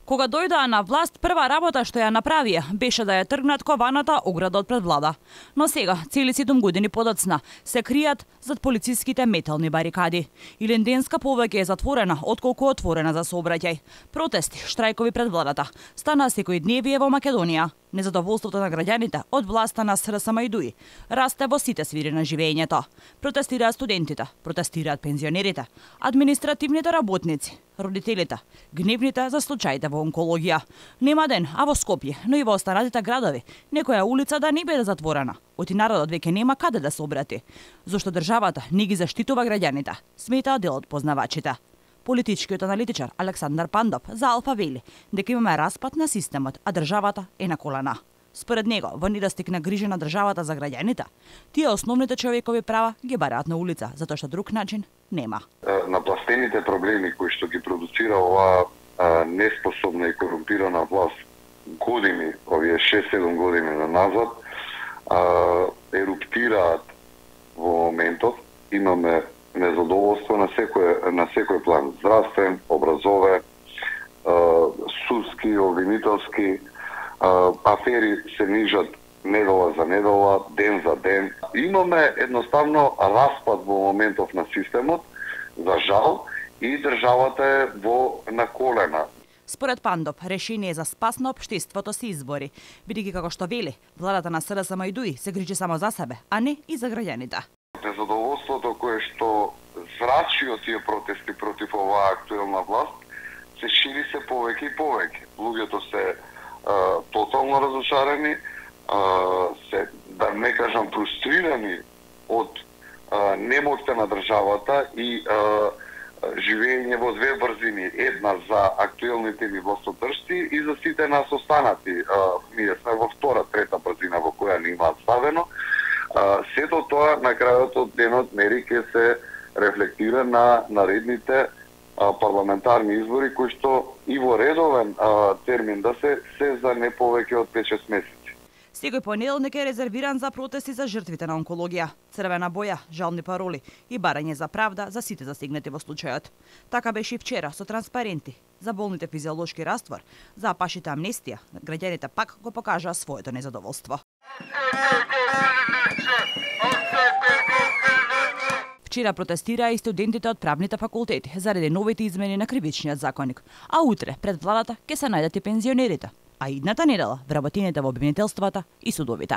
Кога дојдоа на власт, прва работа што ја направија беше да ја тргнат кованата ограда од пред влада. Но сега, цели 7 години подоцна, се кријат зад полициските метални барикади. Илинденска повеќе е затворена, отколку отворена за сообраќај. Протести, штрајкови пред владата стана секојдневие во Македонија. Незадоволството на граѓаните од власта на СРСМ расте во сите сфери на живеењето. Протестираат студентите, протестираат пензионерите, административните работници, родителите, гневните за случаите во онкологија. Нема ден, а во Скопје, но и во останатите градови, некоја улица да не биде затворена. Оти народот веќе нема каде да се обрати. Зошто државата не ги заштитува граѓаните, сметаат дел од познавачите. Политичкиот аналитичар Александар Пандов за Алфа вели дека имаме распад на системот, а државата е на колена. Според него, во недостиг на грижа на државата за граѓаните, тие основните човекови права ги бараат на улица, затоа што друг начин нема. Напластените проблеми кои што ги продуцира оваа неспособна и корумпирана власт години, овие 6-7 години назад, еруптираат во моментот. Имаме незадоволство на секој план, здравствен, образовен, судски, обвинителски, афери се нижат недела за недела, ден за ден. Имаме едноставно распад во моментов на системот, за жал, и државата е на колена. Според Пандов, решение за спас на општеството се избори, бидејќи како што вели, владата на СРСМ се грижи само за себе, а не и за граѓаните. Незадоволството кое што зрачи од тие протести против оваа актуелна власт се шири се повеќе и повеќе. Луѓето се тотално разочарени, се, да не кажам, фрустрирани од немоќта на државата и живење во две брзини. Една за актуелните ни властодржци и за сите нас останати. Ние сме во втора, трета брзина во која не имаат ставено. Сето тоа на крајот од денот мери ќе се рефлектира на наредните парламентарни избори, кои што и во редовен термин да се за не повеќе од 5-6 месеци. Секој понеделник е резервиран за протести за жртвите на онкологија, црвена боја, жални пароли и барање за правда за сите засегнати во случајот. Така беше и вчера со транспаренти за болните физиолошки раствор, за апашите амнестија, граѓаните пак го покажаа своето незадоволство. Вчера протестираа и студентите од правните факултети заради новите измени на кривичниот законник, а утре пред владата ќе се најдат и пензионерите, а идната недела вработените во обвинителствата и судовите.